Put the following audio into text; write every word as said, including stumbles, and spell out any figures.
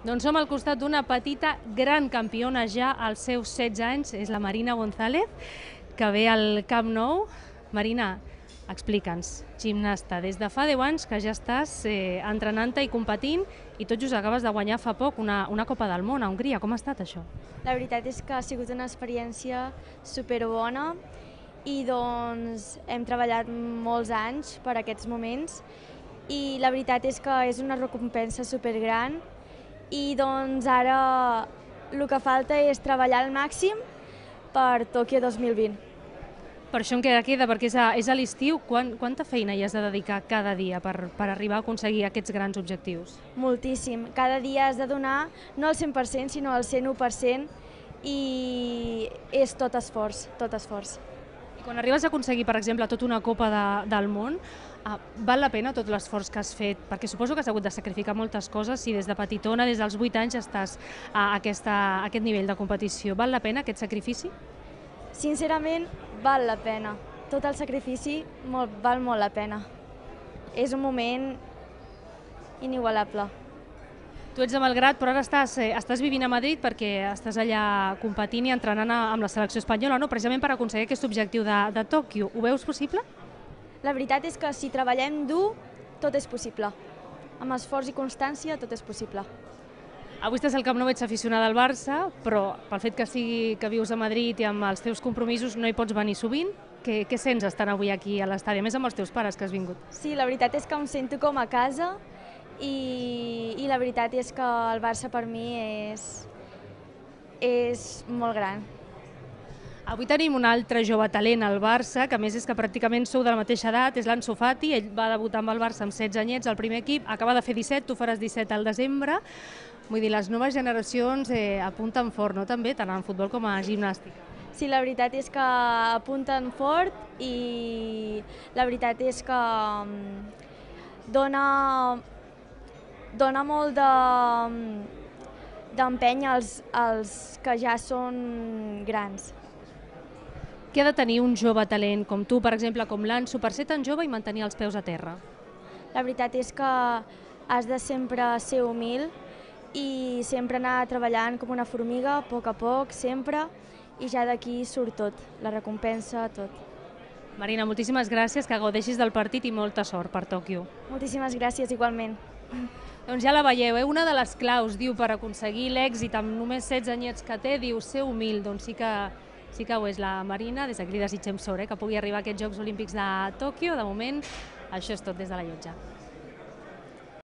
Doncs som al costat d'una petita gran campiona ja als seus setze anys, és la Marina González, que ve al Camp Nou. Marina, explica'ns, gimnasta, des de fa deu anys que ja estàs eh, entrenant-te i competint i tot just acabes de guanyar fa poc una, una Copa del Món a Hongria. Com ha estat això? La veritat és que ha sigut una experiència superbona i doncs hem treballat molts anys per aquests moments i la veritat és que és una recompensa supergran i doncs ara el que falta és treballar al màxim per Tòquio dos mil vint. Per això encara queda, perquè és a, és a l'estiu. Quan, quanta feina hi has de dedicar cada dia per, per arribar a aconseguir aquests grans objectius? Moltíssim. Cada dia has de donar no el cent per cent, sinó el cent u per cent i és tot esforç, tot esforç. I quan arribes a aconseguir, per exemple, tota una Copa de, del Món, eh, val la pena tot l'esforç que has fet? Perquè suposo que has hagut de sacrificar moltes coses si des de petitona, des dels vuit anys, estàs a, aquesta, a aquest nivell de competició. Val la pena aquest sacrifici? Sincerament, val la pena. Tot el sacrifici molt, val molt la pena. És un moment inigualable. Tu ets de Malgrat, però ara estàs, eh, estàs vivint a Madrid perquè estàs allà competint i entrenant a, amb la selecció espanyola, no? Precisament per aconseguir aquest objectiu de, de Tòquio. Ho veus possible? La veritat és que si treballem dur, tot és possible. Amb esforç i constància, tot és possible. Avui estàs al Camp Nou, ets aficionada al Barça, però pel fet que, sigui, que vius a Madrid i amb els teus compromisos no hi pots venir sovint. Què, què sents estant avui aquí a l'estadi, a més amb els teus pares que has vingut? Sí, la veritat és que em sento com a casa i, i la veritat és que el Barça per mi és, és molt gran. Avui tenim un altre jove talent al Barça, que a més és que pràcticament sou de la mateixa edat, és l'Ansu Fati. Ell va debutar amb el Barça amb setze anyets al primer equip, acaba de fer disset, tu faràs disset al desembre. Vull dir, les noves generacions eh, apunten fort, no? També, tant en futbol com a gimnàstica. Sí, la veritat és que apunten fort i la veritat és que dona, dona molt de, d'empenya als, als que ja són grans. Què ha de tenir un jove talent com tu, per exemple, com l'Ansu, per ser tan jove i mantenir els peus a terra? La veritat és que has de sempre ser humil i sempre anar treballant com una formiga, a poc a poc, sempre, i ja d'aquí surt tot, la recompensa, tot. Marina, moltíssimes gràcies, que gaudeixis del partit i molta sort per Tòquio. Moltíssimes gràcies, igualment. Doncs ja la veieu, eh? Una de les claus, diu, per aconseguir l'èxit amb només setze anyets que té, diu, ser humil. Doncs sí que, sí que ho és la Marina, des d'aquí li desitgem sort, eh? Que pugui arribar a aquests Jocs Olímpics de Tòquio. De moment, això és tot des de la Llotja.